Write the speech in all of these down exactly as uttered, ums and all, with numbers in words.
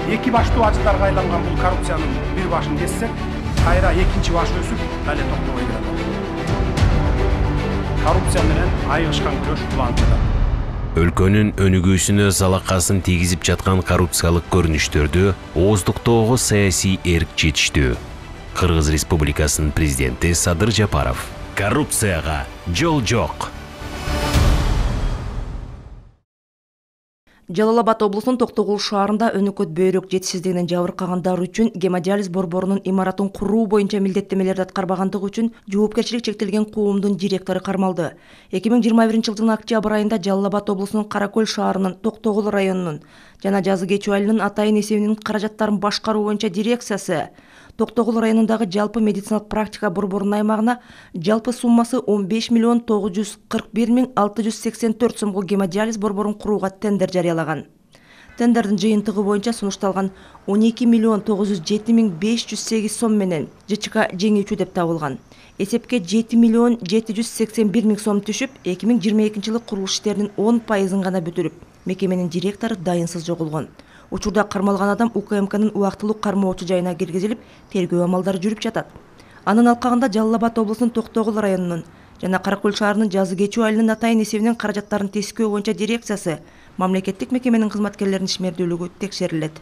эки баштуу ажыдарга айланган бул коррупциянын бир башын кессек, кайра экинчи баш өсүп, дале токтобой келет. Коррупция менен айыгышкан күрөш улантылат. Өлкөнүн өнүгүүсүнө залакасын тийгизип жаткан коррупциялык көрүнүштөрдү ооздуктоого саясий эрк жетиштүү. Кыргыз Республикасынын президенти Садыр Жапаров: коррупцияга жол жок. Жалал Абад облусунун Токтогул шаарында өнөкөт бөйрөк жетишсиздигинен жабыркагандар үчүн гемодиализ борборунун имаратын куруу боюнча милдеттемелерди аткарбагандыгы үчүн жоопкерчилик чектелген коомдун директору кармалды. эки миң жыйырма биринчи жылдын октябрь айында Жалал Абад облусунун Кара Көл шаарынын Токтогул районунун жана Жазы Кечүү айылынын атайын эсебинин каражаттарын башкаруу боюнча дирекциясы Токтогул районундагы жалпы медициналык практика борборунун аймагына жалпы суммасы он беш миллион тогуз жүз кырк бир миң алты жүз сексен төрт сомго гемодиализ борборун курууга тендер жарыялаган. Тендердин жыйынтыгы боюнча сунушталган он эки миллион тогуз жүз жети миң беш жүз сегиз сом менен ЖЧК жеңүүчү деп табылган. Эсепке жети миллион жети жүз сексен бир миң сом түшүп, эки миң жыйырма экинчи жылы курулуш иштеринин он пайызын гана бүтүрүп, мекеменин директору дайынсыз жоголгон. Учурда кармалган адам У К М К'нын убактылуу кармоочу жайына киргизилип, тергөө амалдары жүрүп жатат. Анын алкагында Жалал Абад облусунун Токтогул районунун жана Кара Көл шаарынын Жазы Кечүү айылынын атайын эсебинен каражаттарын тескөө боюнча дирекциясы мамлекеттик мекеменин кызматкерлеринин ишмердүүлүгү текшерилет.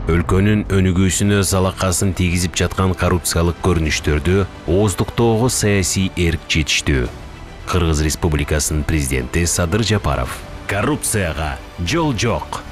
Өлкөнүн өнүгүүсүнө залакасын тийгизип жаткан коррупциялык көрүнүштөрдү ооздуктоого саясий эрк жетиштүү. Кыргыз Республикасынын президенти Садыр Жапаров: коррупцияга жол жок.